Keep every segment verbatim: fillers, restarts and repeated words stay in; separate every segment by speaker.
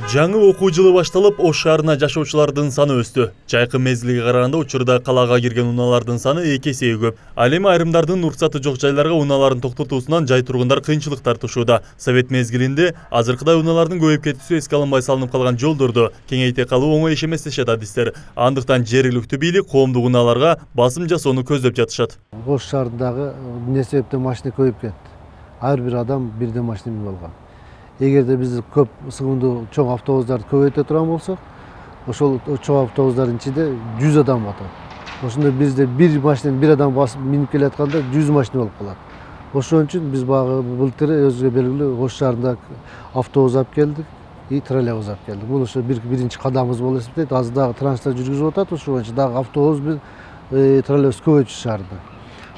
Speaker 1: Жаңы окуу жылы башталып, Ош шаарына жашоочулардын саны өстү. Жайкы мезгилге караганда учурда калаага кирген унаалардын саны эки эсеге көп. Ал эми айрымдардын уруксаты жок жайларга унааларын токтотуусунан жай тургундар кыйынчылык тартышууда. Совет мезгилинде азыркыдай унаалардын көбөйүп кетүүсү эске алынбай салынып калган жолдорду кеңейте калуу оңой иш эмес дешет адистер. Андыктан жергиликтүү бийлик коомдук унааларга басым жасоону көздөп жатышат.
Speaker 2: Ош шаарындагы эмне себептен машина көбөйүп кетти. Ар бир адам бирден машина минип алган. Эгерде биз көп сыгымдуу чоң автобустарды көбөйтө турган болсок, ошол чоң автобустардын ичинде жүз адам атат. Ошондо бизде бир машинаны бир адам басып минип келатканда жүз машина болуп калат. Ошон үчүн биз багы былтыр өзүгө белгилүү Ош шаарында автобус алып келдик и троллейбус алып келдик. Бул ошо бир биринчи кадамыбыз болуп эсептейт. Азыр дагы транспорт жүргүзүп атат, ошол боюнча дагы автобус менен троллейбус көбөйтүш шаарда.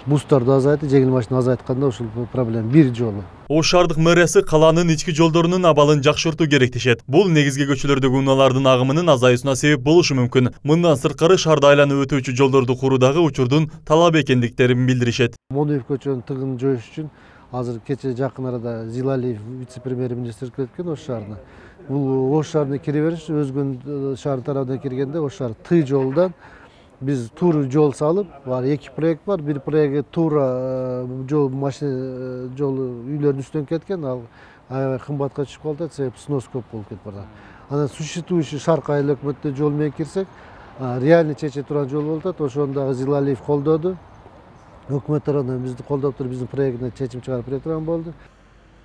Speaker 2: Бустарды азайтып, жеңил машина азайтканда ошол проблема бир жолу.
Speaker 1: Ош шаардык мэриясы калаанын ички жолдорунун абалын жакшыртуу керек дешет. Бул негизги көчөлөрдөгү унаалардын агымынын азаюусуна себеп болушу мүмкүн. Мындан сырткары шаарда айланып өтүүчү жолдорду куруудагы учурдун талап экендиктерин билдиришет.
Speaker 2: Моноев көчөнүн тыгынын жоюш үчүн азыр кече жакын арада Зилалиев вице-премьер-министр кирип кеткен Ош шаарына. Бул Ош шаарына кире бериш өзгөн шаар тарабынан киргенде Ош шаар Ты жолдон биз тур жол салып, бар эки проект бар. Бир проект туура жол машина жолу үйлөрдүн үстүнөн кеткен, ал аябай кымбатка түшүп калды, себеби снос көп болуп кетип барат. Анан существующий шаркы айыл өкмөттүн жол менен кирсек, реально чече турган жол болуп атат. Ошону дагы Зилалиев колдоду. Өкмөт тарабынан бизди колдоп туруп, биздин проектине чечим чыгарып бере турган болду.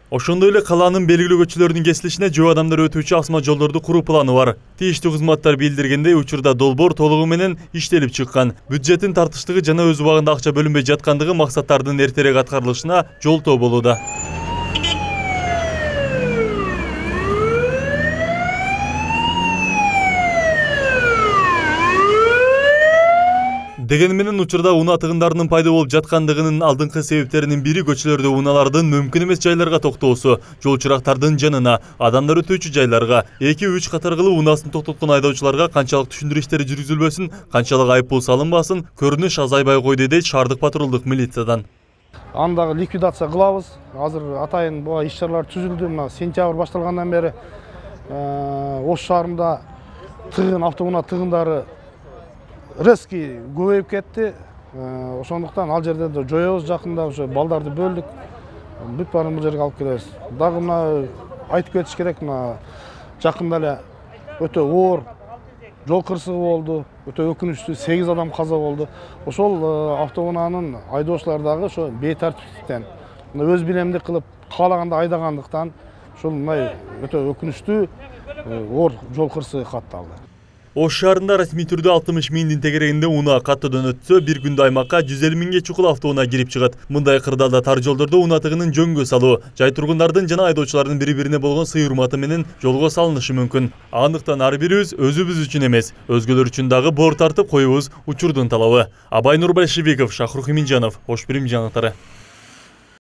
Speaker 1: Ошондой эле калаанын белгилүү көчөлөрүнүн кесилишине жөө адамдар өтүүчү асма жолдорду куруу планы бар. Тийиштүү кызматтар билдиргендей, учурда долбоор толугу менен иштелип чыккан. Бюджеттин тартыштыгы жана өз убагында акча бөлүнбөй жаткандыгы максаттардын эртерээк аткарылышына жолтоо болууда. Деген менен учурда унаа тыгындарынын пайда болуп жаткандыгынын алдыңкы себептеринин бири көчөлөрдө унаалардын мүмкүн эмес жайларга токтоосу, жол чырактардын жанына, адамдар өтүүчү жайларга, эки үч катаргылуу унаасын токтоткон айдоочуларга канчалык түшүндүрүү иштери жүргүзүлбөсүн, канчалык айыппул салынбасын, көрүнүш азайбай койду дейт шаардык патрулдук милициядан.
Speaker 3: Андагы ликвидация кылабыз. Азыр атайын буга иш-чаралар түзүлдү. Мына сентябрь башталгандан бери Ош шаарында тыгын, автоунаа тыгындары резкий көбөйүп кетти. Ошондуктан ал жерде жоёбуз жакында, ошо балдарды бөлдүк. Бүт баарын бул жерге алып келебиз. Дагы мына айтып кетиш керек, мына жакында эле өтө оор жол кырсыгы болду. Өтө өкүнүчтүү сегиз адам каза болду. Ошол автоунаанын айдоочулары дагы ошо бейтартиптиктен, өз билемдик кылып каалаганда айдагандыктан ошол мындай өтө өкүнүчтүү оор жол кырсыгы катталды.
Speaker 1: Ош шаарында расмий түрдө алтымыш миңдин тегерегинде унаа каттоодон өтсө, бир күндө аймакка жүз элүү миңге чукул автоунаа кирип чыгат. Мындай кырдаалда тар жолдордо унаа тыгынын жөнгө салуу, жай тургундардын жана айдоочулардын бири-бирине болгон сый урматы менен жолго салынышы мүмкүн. Андыктан ар бирибиз өзүбүз үчүн эмес, өзгөлөр үчүн дагы боор тартып коюбуз учурдун талабы. Абай Нурбайшевиков, Шахрух Иминжанов, Ош Бирим жаңылыктары.